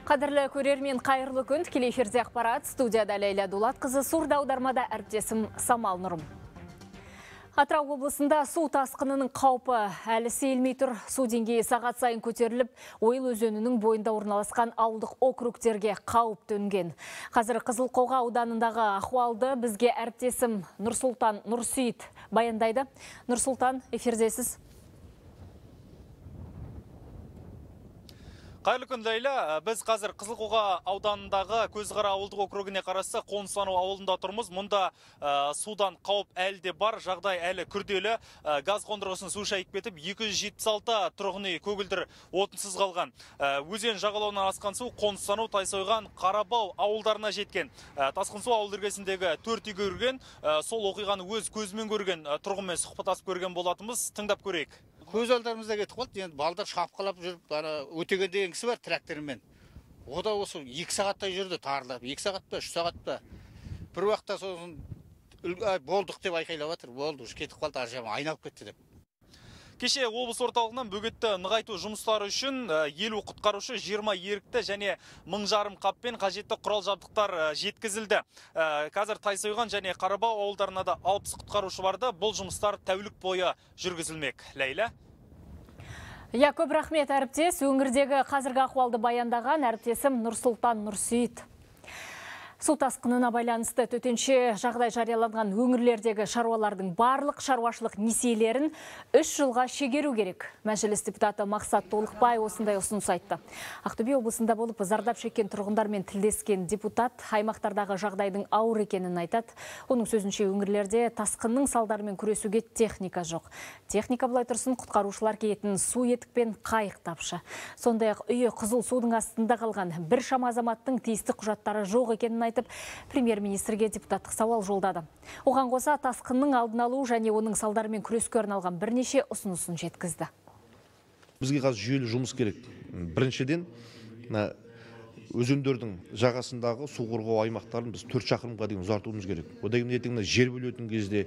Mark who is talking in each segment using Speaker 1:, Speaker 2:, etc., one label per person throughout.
Speaker 1: Қадірлі көрермен, қайырлы күн. Тікелей эфирде ақпарат. Студияда Лейла Дулатқызы, сурда аудармада әріптесім Самал Нұрым. Атырау облысында су тасқынының қаупі әлі сейілмей тұр. Су деңгейі сағат сайын көтеріліп, Ойыл өзенінің бойында орналасқан ауылдық округтерге қауіп төнген. Қазір Қызылқоға ауданындағы ахуалды бізге әріптесім Нұрсұлтан Нұрсейіт баяндайды. Нұрсұлтан, эфирдесіз.
Speaker 2: Қайырлы күн, Лейла. Біз қазір Қызылқоға ауданындағы Көзқара ауылдық округіне қарасы Қонысану ауылында тұрмыз. Мұнда судан қауіп әлі де бар, жағдай әлі күрделі. Газ қондырғысын су шайып кетіп, 276 тұрғын үй көгілдір отынсыз қалған. Өзен жағалауынан асқан су Қонысану, Тайсойған, Қарабау ауылдарына жеткен. Тасқын су ауыл іргесіндегі 4 үйге кірген, сол оқиғаны өз көзімен көрген тұрғынмен сұхбаттасып көрген болатынбыз. Тыңдап көрейік.
Speaker 3: Көз алдарымызда кетіп қалды. Енді балдар шапқылап жүріп, өтеген деген кісі бар трактормен. О да осы 2 сағаттай жүрді тарылып. 2 сағат па, 3 сағат па. Бір уақытта сосын болдық деп айқайлап жатыр. Болды, кетіп қалды, аржама айналып кетті деп.
Speaker 2: Кеше облыс орталығынан бөгетті нығайту жұмыстары үшін 50 құтқарушы, 20 ерікті және 1000 жарым қаппен қажетті құрал жабдықтар жеткізілді. Қазір Тайсойған және Қарабау ауылдарына да 60 құтқарушы барды. Бұл жұмыстар тәулік бойы жүргізілмек. Лейла.
Speaker 1: Көп рахмет, әріптес. Өңірдегі қазіргі ахуалды баяндаған әріптесім Нұрсұлтан Нұрсейіт. Су тасқынына байланысты төтенше жағдай жарияланған өңірлердегі шаруалардың барлық шаруашылық несиелерін 3 жылға шегеру керек. Мәжіліс депутаты Мақсат Толықбай осындай ұсыныс айтты. Ақтөбе облысында болып зардап шеккен тұрғындармен тілдескен депутат аймақтардағы жағдайдың ауыр екенін айтады. Оның сөзінше өңірлерде тасқынның салдарымен күресуге техника жоқ. Техника былай тұрсын құтқарушылар киетін су етікпен қайық тапшы. Сондай-ақ үйі қызыл судың астында қалған біршама азаматтың тиісті құжаттары жоқ екенін айтып, премьер-министрге депутаттық сауал жолдады. Оған қоса тасқынның алдын алу және оның салдарымен күреске арналған бірнеше ұсынысын жеткізді.
Speaker 4: Бізге қазір жүйелі жұмыс керек. Біріншіден, өзендердің жағасындағы су қорғау аймақтарын біз 4 шақырымға дейін ұзартуымыз керек. Одан кейін ертең жер бөлетін кезде,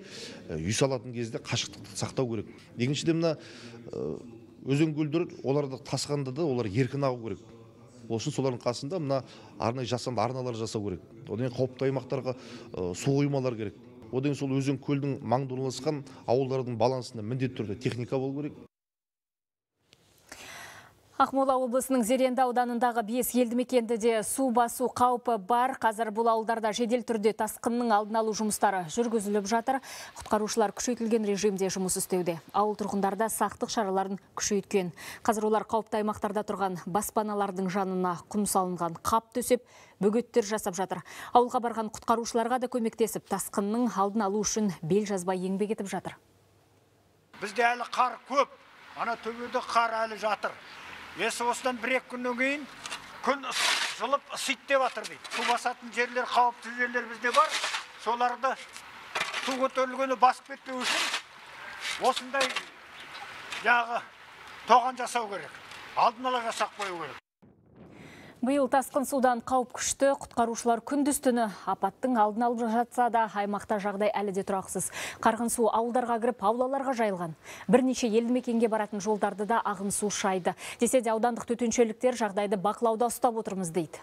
Speaker 4: үй салатын кезде қашықтықты сақтау керек. Екіншіден, өзен көлдер оларды тасқанда да олар еркін ағу керек. Осын солардың қасында арнайы жасанды арналар жасау керек. Одан қауіпті аймақтарға су қоймалар керек. Одан сол өзен көлдің маңында орналасқан ауылдардың балансында міндетті түрде техника болу керек.
Speaker 1: Ақмола облысының Зеренді ауданындағы 5 елді мекенді де су басу қаупі бар. Қазір бұл ауылдарда жедел түрде тасқынның алдын алу жұмыстары жүргізіліп жатыр. Құтқарушылар күшейтілген режимде жұмыс істеуде. Ауыл тұрғындарда сақтық шараларын күшейткен. Қазір олар қауіпті аймақтарда тұрған баспаналардың жанына құм салынған қап төсеп, бөгеттер жасап жатыр. Ауылға барған құтқарушыларға да көмектесіп, тасқынның алдын алу үшін бел жазбай еңбек етіп жатыр.
Speaker 5: Бізде әлі қар көп. Ана төбеде қар әлі жатыр. Осыдан 1-2 күннен кейін күн жылып ысиды деп жатыр дейді. Су басатын жерлер, қауіпті жерлер бізде бар. Соларды су көтерілгені басып кетпеу үшін осындай тоған жасау керек. Алдын ала жасап қою керек.
Speaker 1: Биыл тасқын судан қауіп күшті, құтқарушылар күндіз-түні апаттың алдын алып жатса да, аймақта жағдай әлі де тұрақсыз. Қарғын су ауылдарға кіріп, аулаларға жайылған. Бірнеше елді мекенге баратын жолдарды да ағын су шайды. Десе де аудандық төтеншеліктер жағдайды бақылауда ұстап отырмыз дейді.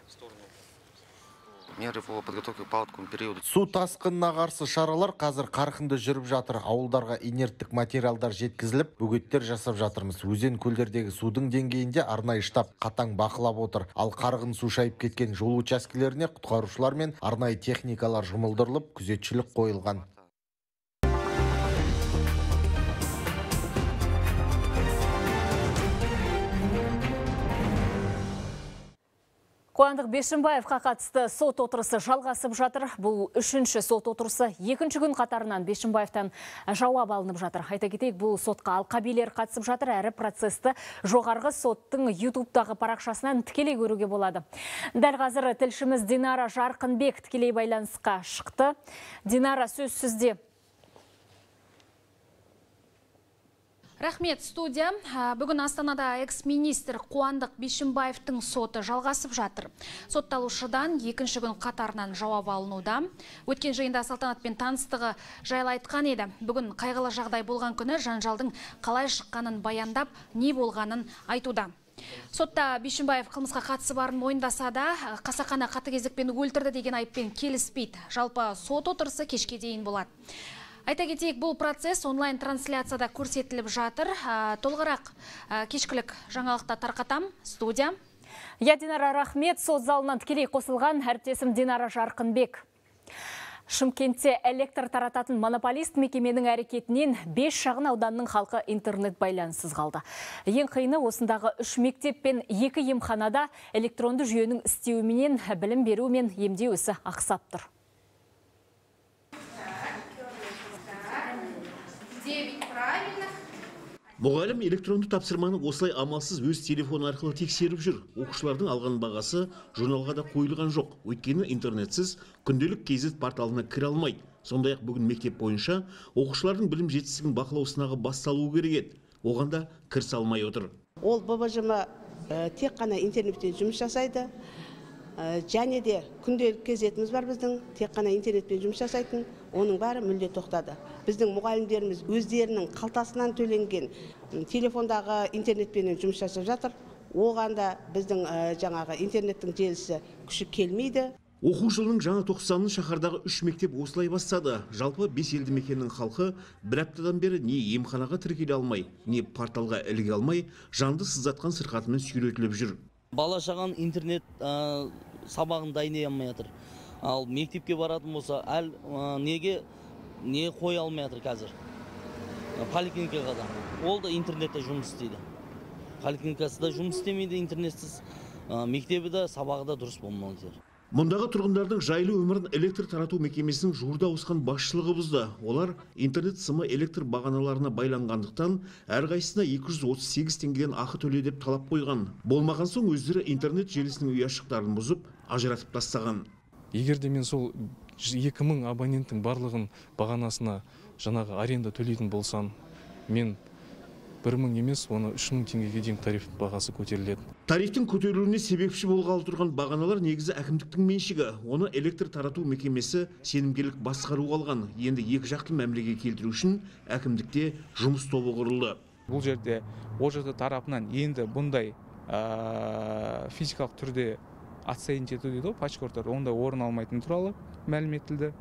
Speaker 6: Су тасқынына қарсы шаралар қазір қарқынды жүріп жатыр. Ауылдарға инерттік материалдар жеткізіліп, бөгеттер жасап жатырмыз. Өзен көлдердегі судың деңгейінде арнайы штаб қатаң бақылап отыр. Ал қарғын су шайып кеткен жол учаскелеріне құтқарушылар мен арнайы техникалар жұмылдырылып, күзетшілік қойылған.
Speaker 1: Қуандық Бишімбаевқа қатысты сот отырысы жалғасып жатыр. Бұл 3-ші сот отырысы 2-ші күн қатарынан Бишімбаевтан жауап алынып жатыр. Айта кетейік, бұл сотқа алқабилер қатысып жатыр, әрі процесті жоғарғы соттың YouTube-дағы парақшасынан тікелей көруге болады. Дәл қазір тілшіміз Динара Жарқынбек тікелей байланысқа шықты. Динара, сөз сізде.
Speaker 7: Рахмет, студия. Бүгін Астанада экс-министр Қуандық Бишімбаевтың соты жалғасып жатыр. Сотталушыдан 2-ші күн қатарынан жауап алынуда. Өткен жиында салтанатпен таныстығы жайлы айтқан еді. Бүгін қайғылы жағдай болған күні жанжалдың қалай шыққанын баяндап, не болғанын айтуда. Сотта Бишімбаев қылмысқа қатысы барын мойындаса да, қасақана қатыгездікпен өлтірді деген айыппен келіспейді. Жалпы сот отырысы кешке дейін болады. Айта кетейік, бұл процесс онлайн трансляцияда көрсетіліп жатыр. Толығырақ кешкілік жаңалықта тарқатам. Студия.
Speaker 1: Динара рахмет, сот залынан тікелей қосылған әріптесім Динара Жарқынбек. Шымкентте электр тарататын монополист мекеменің әрекетінен 5 шағын ауданның халқы интернет байланыссыз қалды. Ең қиыны осындағы 3 мектеп пен 2 емханада электронды жүйенің істеуіменен білім беру мен емдеу ісі ақсап тұр.
Speaker 8: Мұғалім электронды тапсырманы осылай амалсыз өз телефон арқылы тексеріп жүр. Оқушылардың алған бағасы журналға да қойылған жоқ. Өйткені интернетсіз күнделік KZ порталына кіре алмайды. Сондай-ақ бүгін мектеп бойынша оқушылардың білім жетістігін бақылау сынағы басталуы керек еді. Оған да кірісе алмай отыр.
Speaker 9: Ол ББЖМ тек қана интернетпен жұмыс жасайды. Және де күнделік кезетіміз бар біздің, тек қана интернетпен жұмыс жасайтын, оның бәрі мүлде тоқтады. Біздің мұғалімдеріміз өздерінің қалтасынан төленген телефондағы интернетпен жұмыс жасап жатыр. Оған да біздің жаңағы интернеттің желісі күші келмейді.
Speaker 8: Оқу жылының жаңа тоқсанын шаһардағы 3 мектеп осылай бастады. Жалпы 5 елді мекеннің халқы бір аптадан бері не емханаға тіркеле алмай, не порталға іліге алмай, жанды сыздатқан сырқатымен сүйретіліп жүр.
Speaker 10: Бала шаған интернет сабағын дайындай алмай жатыр. Ал мектепке баратын болса, не қоя алмай жатыр қазір. Поликлиникаға да. Ол да интернетте жұмыс істейді. Поликлиникасы да жұмыс істемейді интернетсіз. Мектебі де сабағы да дұрыс болмайды.
Speaker 8: Мұндағы тұрғындардың жайлы өмірін электр тарату мекемесінің жуырда ауысқан басшылығы бұзды. Олар интернет сымы электр бағаналарына байланғандықтан әрқайсысына 238 теңгеден ақы төле деп талап қойған. Болмаған соң өздері интернет желісінің ұяшықтарын бұзып, ажыратып тастаған.
Speaker 11: Егер де мен сол 2000 абоненттің барлығын бағанасына жаңағы аренда төлейтін болсам, мен 1000 емес, оны 3000 теңгеге дейін тариф бағасы көтеріледі.
Speaker 8: Тарифтің көтерілуіне себепші болғалы тұрған бағаналар негізі әкімдіктің меншігі. Оны электр тарату мекемесі сенімгерлік басқаруға алған. Енді екі жақты мәмілеге келтіру үшін әкімдікте жұмыс тобы құрылды.
Speaker 11: Бұл жерде ОЖТ тарапынан енді бұндай физикалық түрде отсоединить ету дейді, пачкорттар, онда орын алмайтын туралы мәлім етілді.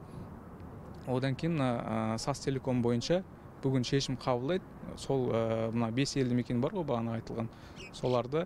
Speaker 11: Одан кейін Састелеком бойынша бүгін шешім қабылдайды. Сол мына 5 елді мекен бар ғой, бағана айтылған. Соларды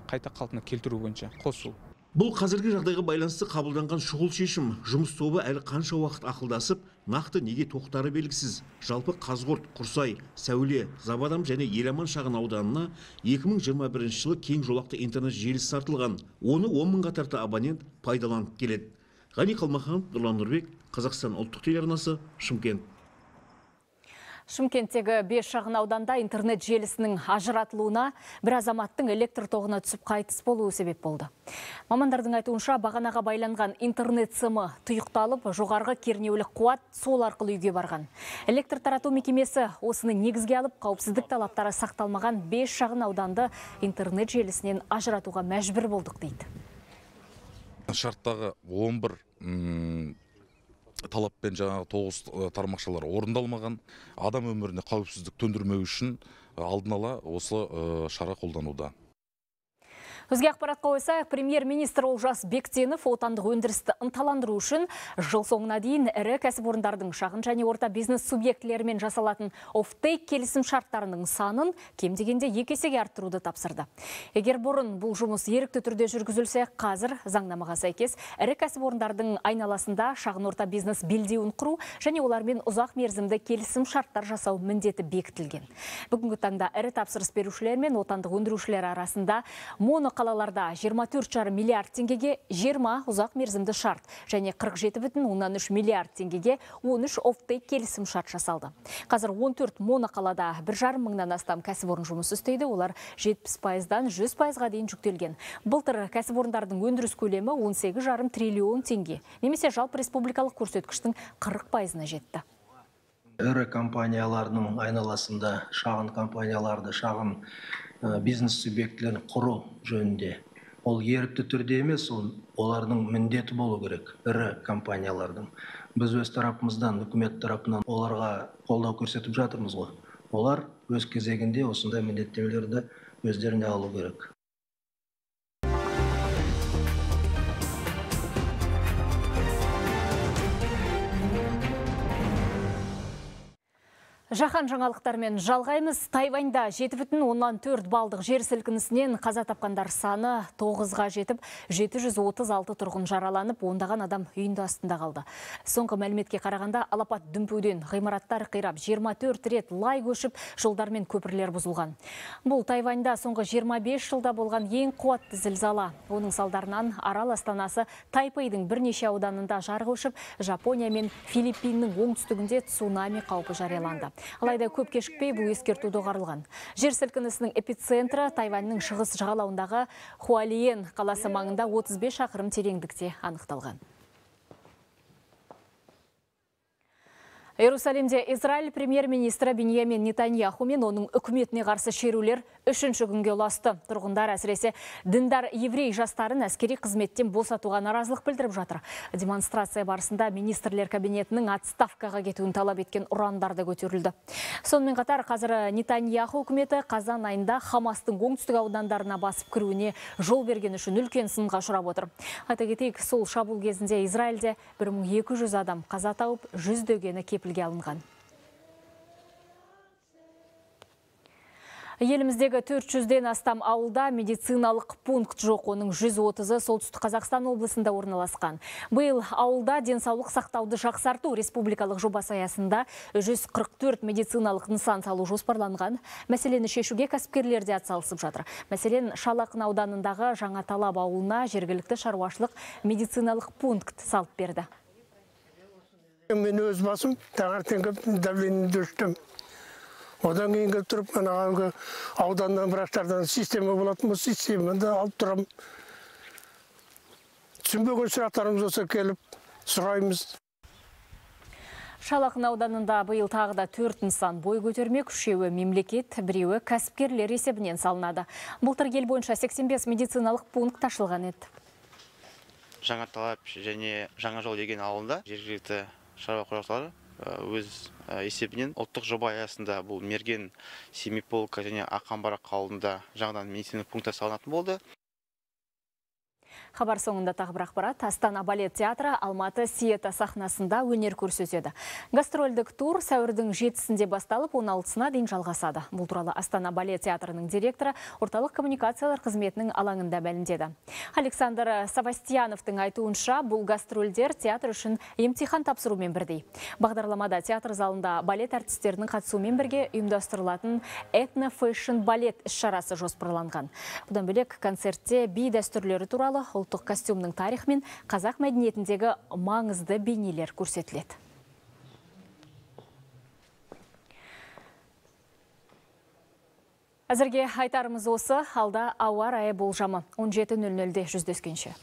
Speaker 11: қайта қалпына келтіру бойынша қосу.
Speaker 8: Бұл қазіргі жағдайға байланысты қабылданған шұғыл шешім. Жұмыс тобы әлі қанша уақыт ақылдасып, нақты неге тоқтары белгісіз. Жалпы Қазғұрт, Құрсай, Сәуле, Забадам және Еламан шағын ауданына 2021 жылы кең жолақты интернет желісі тартылған. Оны 10 мыңға тарта абонент пайдаланып келеді. Ғани Қалмаханов, Нұрлан Нұрбек, Қазақстан ұлттық телеарнасы, Шымкент.
Speaker 1: Шымкенттегі 5 шағын ауданда интернет желісінің ажыратылуына бір азаматтың электр тоғына түсіп қайтыс болуы себеп болды. Мамандардың айтуынша бағанаға байланған интернет сымы тұйықталып, жоғарғы кернеулік қуат сол арқылы үйге барған. Электр тарату мекемесі осыны негізге алып, қауіпсіздік талаптары сақталмаған 5 шағын ауданды интернет желісінен ажыратуға мәжбүр болдық дейді.
Speaker 12: Шарттағы 11 талаппен жаңағы 9 тармақшалар орындалмаған, адам өміріне қауіпсіздік төндірмеу үшін алдын ала осы шара қолдануда.
Speaker 1: Өзге ақпаратқа ойсақ, премьер-министр Олжас Бектенов отандық өндірісті ынталандыру үшін жыл соңына дейін ірі кәсіпорындардың шағын және орта бизнес субъектілерімен жасалатын оффтейк келісім шарттарының санын кем дегенде 2 есеге арттыруды тапсырды. Егер бұрын бұл жұмыс ерікті түрде жүргізілсе, қазір заңнамаға сәйкес ірі кәсіпорындардың айналасында шағын орта бизнес белдеуін құру және олармен ұзақ мерзімді келісім шарттар жасау міндеті бекітілген. Бүгінгі таңда ірі тапсырыс берушілер мен отандық өндірушілер арасында қалаларда 24,5 миллиард теңгеге 20 ұзақ мерзімді шарт және 47,3 миллиард теңгеге 13 оффтейк келісім шарт жасалды. Қазір 14 моноқалада 1,5 мыңнан астам кәсіпорын жұмыс істейді, олар 70%-дан 100%-ға дейін жүктелген. Былтыр кәсіпорындардың өндіріс көлемі 18,5 триллион теңге, немесе жалпы республикалық көрсеткіштің 40%-на жетті.
Speaker 13: Ірі компаниялардың айналасында шағын компанияларды, шағын бизнес субъектілерін құру жөнінде. Ол ерікті түрде емес, олардың міндеті болу керек, ірі компаниялардың. Біз өз тарапымыздан, үкімет тарапынан оларға қолдау көрсетіп жатырмыз ғой. Олар өз кезегінде осындай міндеттемелерді өздеріне алу керек.
Speaker 1: Жаһан жаңалықтармен жалғаймыз. Тайваньда 7,4 балдық жер сілкінісінен қаза тапқандар саны 9-ға жетіп, 736 тұрғын жараланып, ондаған адам үйінді астында қалды. Соңғы мәліметке қарағанда алапат дүмпуден ғимараттар қирап, 24 рет лай көшіп, жолдар мен көпірлер бұзылған. Бұл Тайваньда соңғы 25 жылда болған ең қуатты зілзала. Оның салдарынан арал астанасы Тайпейдің бірнеше ауданында жар көшіп, Жапония мен Филиппиннің оңтүстігінде цунами қаупі жарияланды. Алайда көп кешікпей бұл ескерту доғарылған. Жер сілкінісінің эпицентрі Тайваньның шығыс жағалауындағы Хуалиен қаласы маңында 35 шақырым тереңдікте анықталған. Иерусалимде Израиль премьер-министрі Биньямин Нетаньяху мен оның үкіметіне қарсы шерулер 3-ші күнге ұласты. Тұрғындар әсіресе діндар еврей жастарын әскери қызметтен босатуға наразылық білдіріп жатыр. Демонстрация барысында министрлер кабинетінің отставкаға кетуін талап еткен ұрандарды көтерілді. Сонымен қатар қазір Нетаньяху үкіметі қазан айында Хамастың оңтүстік аудандарына басып кіруіне жол берген үшін үлкен сынға ұшырап отыр. Айта кетейік, сол шабуыл кезінде Израильде 1200 адам қаза тауып, жүздегені кепілге алынған. Еліміздегі 400-ден астам ауылда медициналық пункт жоқ, оның 130-ы солтүстік Қазақстан облысында орналасқан. Биыл ауылда денсаулық сақтауды жақсарту республикалық жобасы аясында 144 медициналық нысан салу жоспарланған. Мәселені шешуге кәсіпкерлер де атсалысып жатыр. Мәселен, Шалақын ауданындағы Жаңаталап ауылына жергілікті шаруашылық медициналық пункт салып берді.
Speaker 14: Мен өз басым таңертең давлениеді өлшеттім. Одан кейін келіп тұрып, ауданнан врачтардан система болатын, бұл системаны алып тұрам. Түсінбеген сұрақтарымыз болса келіп сұраймыз.
Speaker 1: Шалақын ауданында биыл тағы да 4 нысан бой көтермек, 3-еуі мемлекет, 1-еуі кәсіпкерлер есебінен салынады. Былтыр ел бойынша 85 медициналық пункт ашылған еді.
Speaker 15: Жаңаталап және Жаңажол деген ауылында жергілікті шаруа қожалықтары өз есебінен ұлттық жоба аясында бұл Мерген, Семиполка және Ақамбара ауылында жаңадан медициналық пункттар салынатын болды.
Speaker 1: Хабар соңында тағы бір ақпарат. Астана балет театры Алматы Сиета сахнасында өнер көрсетеді. Гастрольдік тур сәуірдің 7-сінде басталып, 16-сына дейін жалғасады. Бұл туралы Астана балет театрының директоры орталық коммуникациялар қызметінің алаңында мәлімдеді. Александр Савастьяновтың айтуынша, бұл гастрольдер театр үшін емтихан тапсырумен бірдей. Бағдарламада театр залында балет әртістерінің қатысуымен бірге ұйымдастырылатын этно-фэшн балет іс-шарасы жоспарланған. Бұдан бөлек концертте би дәстүрлері туралы ұлттық костюмның тарихы мен қазақ мәдениетіндегі маңызды бейнелер көрсетіледі. Әзірге айтарымыз осы, алда ауа райы болжамы 17:00-де жүздескенше.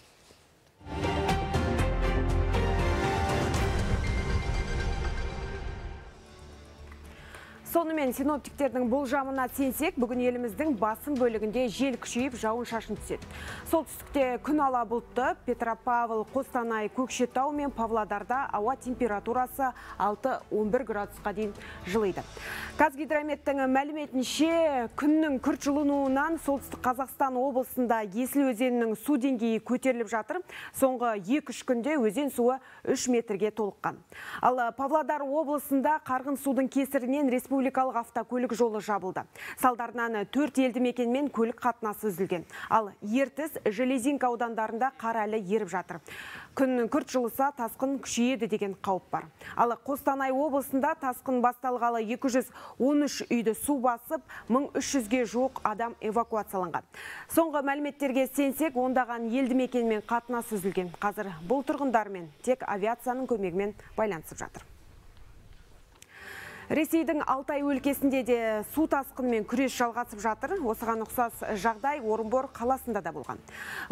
Speaker 16: Сонымен синоптиктердің болжамына сенсек, бүгін еліміздің басым бөлігінде жел күшейіп, жауын шашын түседі. Солтүстікте күн ала бұлтты, Петропавл, Қостанай, Көкшетау мен Павлодарда ауа температурасы 6-11 градусқа дейін жылиды. Қазгидрометтің мәліметінше, күннің күрт жылынуынан солтүстік Қазақстан облысында Есіл өзенінің су деңгейі көтеріліп жатыр. Соңғы 2-3 күнде өзен суы 3 метрге толыққан. Ал Павлодар облысында қарғын судың кесірінен республикалық автокөлік жолы жабылды. Салдарынан 4 елді мекенмен көлік қатынасы үзілген. Ал Ертіс, Железинка аудандарында қар әлі еріп жатыр. Күн күрт жылыса тасқын күшейеді деген қауіп бар. Ал Қостанай облысында тасқын басталғалы 213 үйді су басып, 1300-ге жуық адам эвакуацияланған. Соңғы мәліметтерге сенсек, ондаған елді мекенмен қатынас үзілген. Қазір бұл тұрғындармен тек авиацияның көмегімен байланысып жатыр. Ресейдің Алтай өлкесінде де су тасқынымен күрес жалғасып жатыр. Осыған ұқсас жағдай Орынбор қаласында да болған.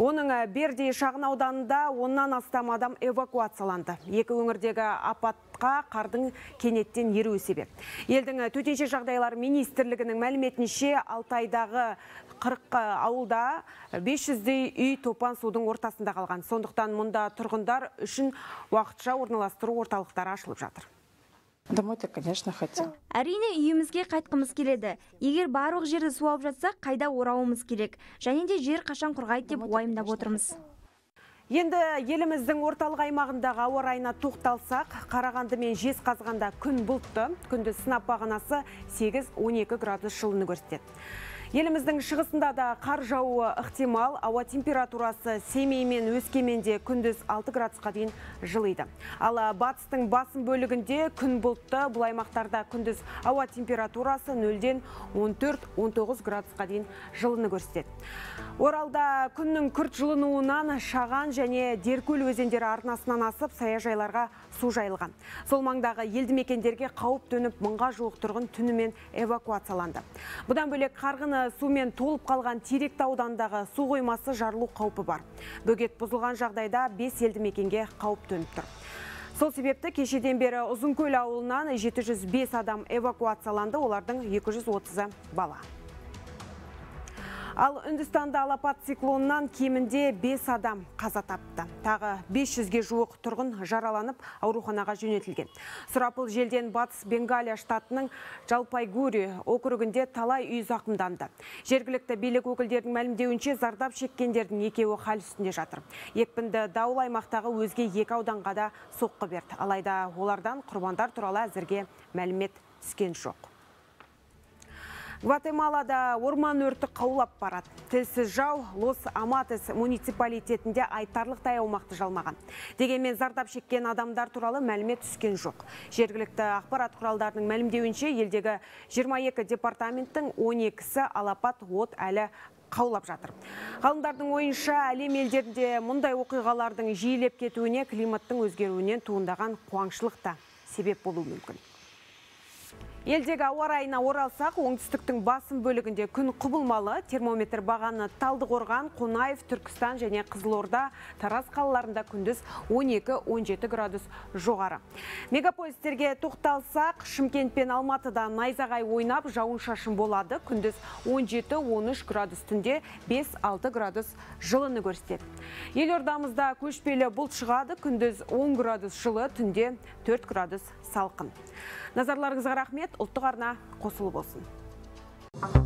Speaker 16: Оның Бердей шағын ауданында 10-нан астам адам эвакуацияланды. Екі өңірдегі апатқа қардың кенеттен еруі себеп. Елдің төтенше жағдайлар министрлігінің мәліметінше Алтайдағы 40 ауылда 500-дей үй топан судың ортасында қалған. Сондықтан мұнда тұрғындар үшін уақытша орналастыру орталықтары ашылып жатыр.
Speaker 17: Домой-то, конечно, хотел.
Speaker 18: Әрине үйімізге қайтқымыз келеді. Егер барлық жерді су алып жатса, қайда орауымыз керек. Және де жер қашан құрғайды деп уайымдап отырмыз.
Speaker 16: Енді еліміздің орталық аймағындағы ауа райына тоқталсақ, Қарағанды мен Жезқазғанда күн бұлтты, күндіз сынап бағанасы 8-12 градус жылыны көрсетеді. Еліміздің шығысында да қар жауы ықтимал, ауа температурасы Семей мен Өскеменде күндіз 6 градусқа дейін жылыйды. Ал батыстың басым бөлігінде күн бұлтты, бұл аймақтарда күндіз ауа температурасы 0-ден 14-19 градусқа дейін жылыны көрсетеді. Оралда күннің күрт жылынуынан Шаған және Деркөл өзендері арнасынан асып, саяжайларға су жайылған. Сол маңдағы елді мекендерге қауіп төніп, мыңға жуық тұрғын түнімен эвакуацияланды. Бұдан бөлек қарғыны сумен толып қалған Теректі аудандағы су қоймасы жарылу қаупі бар. Бөгет бұзылған жағдайда 5 елді мекенге қауіп төніп тұр. Сол себепті кешеден бері Ұзынкөл ауылынан 705 адам эвакуацияланды, олардың 230-ы бала. Ал Үндістанда алапат циклоннан кемінде 5 адам қаза тапты. Тағы 500-ге жуық тұрғын жараланып, ауруханаға жөнелтілген. Сұрапыл желден Батыс Бенгалия штатының Жалпайгури округінде талай үй зақымданды. Жергілікті билік өкілдерінің мәлімдеуінше зардап шеккендердің екеуі хал үстінде жатыр. Екпінді дауыл аймақтағы өзге 2 ауданға да соққы берді. Алайда олардан құрбандар туралы әзірге мәлімет түскен жоқ. Гватемалада орман өрті қаулап барады. Тілсіз жау Лос-Аматес муниципалитетінде айтарлықтай аумақты жалмаған. Дегенмен зардап шеккен адамдар туралы мәлімет түскен жоқ. Жергілікті ақпарат құралдарының мәлімдеуінше елдегі 22 департаменттің 12-сі алапат от әлі қаулап жатыр. Ғалымдардың ойынша әлем елдерінде мұндай оқиғалардың жиілеп кетуіне климаттың өзгеруінен туындаған қуаңшылық та себеп болуы мүмкін. Елдегі ауа райына оралсақ, оңтүстіктің басым бөлігінде күн құбылмалы, термометр бағаны Талдықорған, Қонаев, Түркістан және Қызылорда, Тараз қалаларында күндіз 12-17 градус жоғары. Мегаполистерге тоқталсақ, Шымкент пен Алматыда найзағай ойнап, жауын-шашын болады, күндіз 17-13 градус, түнде 5-6 градус жылыны көрсетеді. Елордамызда көшпелі бұлт шығады, күндіз 10 градус жылы, түнде 4 градус салқын. Назарларыңызға рахмет, ұлттық арна қосылы болсын.